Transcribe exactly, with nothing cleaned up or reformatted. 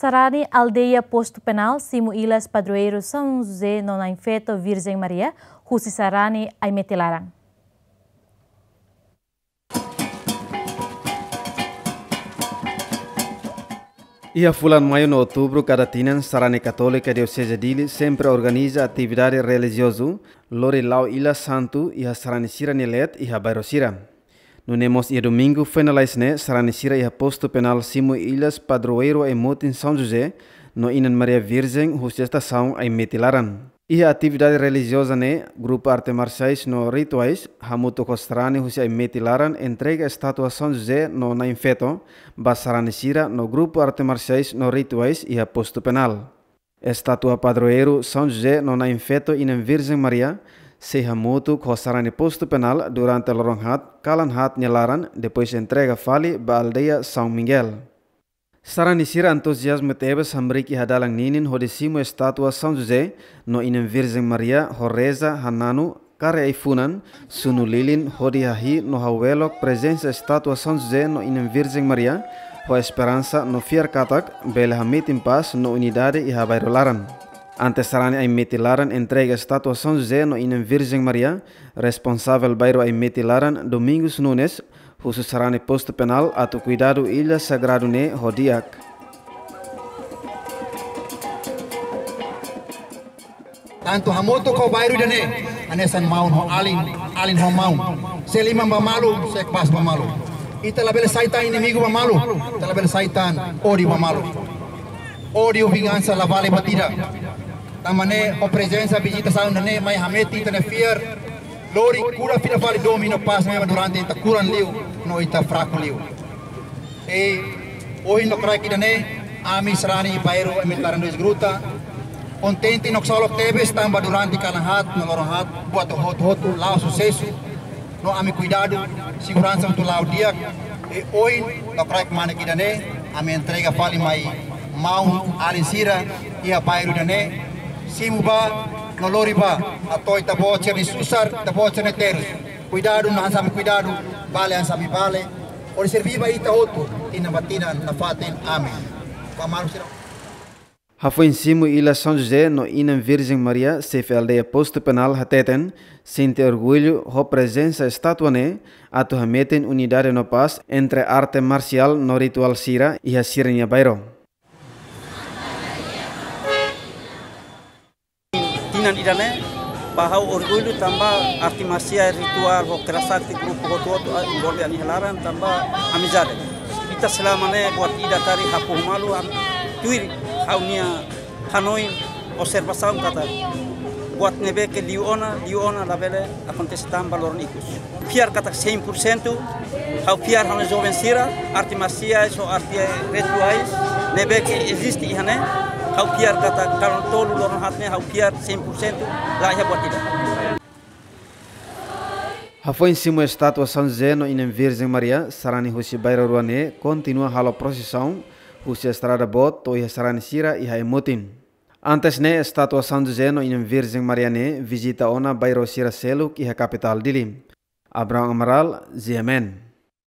Sarani aldeia Postu Penal, simu ilas padroeiru São José no Na'in Feto Virjen Maria, husi sarani Aimeti Laran. Iha fulan Maiu no Outubru kada tinan, sarani Katólika Dioseze Dili sempre organiza atividade relijiozu, lori la'o ilas santu iha sarani sira-nia leet iha bairru sira. Nune'e mós iha Domingu foin lalais ne'e, sarani sira iha Postu Penal simu ilas padroeiru Aimotin São José no Inan Maria Virjen husi estasaun Aimeti Laran. Iha atividade relijioza ne'e, grupu arte marsiais no rituais, hamutuk ho sarani husi Aimeti Laran entrega estátua São José no Na'in Feto ba sarani sira no grupu arte marsiais no rituais iha Postu Penal. Estátua padroeiru São José no Na'in Feto Inan Virjen Maria sei hamutuk ho sarani Postu Penal durante loron haat, kalan haat nia laran, depois entrega fali ba aldeia São Miguel. Sarani sira entuziazmu tebes hamriik iha dalan ninin hodi simu estátua São José no Inan Virjen Maria ho reza, hananu, kari ai-funan, sunu lilin hodi hahi'i no hawelok prezensa estátua São José no Inan Virjen Maria, ho esperansa no fiar katak bele hametin pás no unidade iha bairru laran. Antes sarani Aimeti Laran entrega estátua São José no Inan Virjen Maria, responsavel bairru Aimeti Laran, Domingos Nunes, husu sarani Postu Penal atu kuidadu ilha sagradu ne'e ho di'ak. Tantu hamutuk ho bairru ida-ne'e, hanesan maun ho alin, alin ho maun. Se liman ba malu, se kpás ba malu. Ita labele sai tan inimigu ba malu, ita labele sai tan ódiu ba malu. Ódiu, vingansa la vale buat ida. Tanba ne'e, ho prezensa, vizita saun ne'e mai hametin ita-nia fiar, lori kuda fila fali domin no pás ne'ebé durante ita kuran liu no ita fraku liu. I ohin lokraik ida-ne'e, ami sarani bairru Aimeti Laran dois Gruta kontente no ksolok tebes tanba durante kalan haat no loron haat buat hotu-hotu la'o susesu. No ami kuidadu, seguransa hotu la'o di'ak. I ohin lokraik mane ida-ne'e, ami entrega fali mai maun alin sira iha bairru ida-ne'e, simu bá no lori bá, hato'o ita-boot sira-nia susar, ita-boot sira-nia terus. Kuidadu, no hanesan ami kuidadu, bale hanesan ami bale. Hodi serví ba ita hotu, tinan ba tinan, nafatin. Amen. Ba maluk sira. Hafoin simu ilas São José no Inan Virjen Maria, xefe aldeia Postu Penal hateten sente orgullu ho prezensa estátua ne'e atu hametin unidade no pás entre arte marsiál no rituál sira iha sira-nia bairru. Tinan ida-ne'e, ba ha'u orgullu tanba arte marsiál, rituál ho kera sakti, grupu hotu-hotu, ah, envolve iha nia laran tanba amizade. Ita selama ne'e buat ida karik hapoho malu, ami tuir ha'u-nia hanoin, observasaun katak buat ne'ebé ke liu ona, liu ona labele akontese tan ba loron ikus. Fiar katak cem por cento, ha'u fiar ha'u-nia joven sira, arte marsiais ho arte rituais ne'ebé ke eziste iha ne'e, ha'u fiar katak kalan tolu loron haat ne'e, ha'u fiar cem por cento la iha buat ida. Hafoin simu estátua São José no Inan Virjen Maria, sarani husi bairru rua ne'e kontinua halo prosisaun husi estrada boot to'o iha sarani sira iha Aimotin. Antes ne'e, estátua São José no Inan Virjen Maria ne'e vizita ona bairru sira seluk iha kapitál Dili. Abrão Amaral, G M N.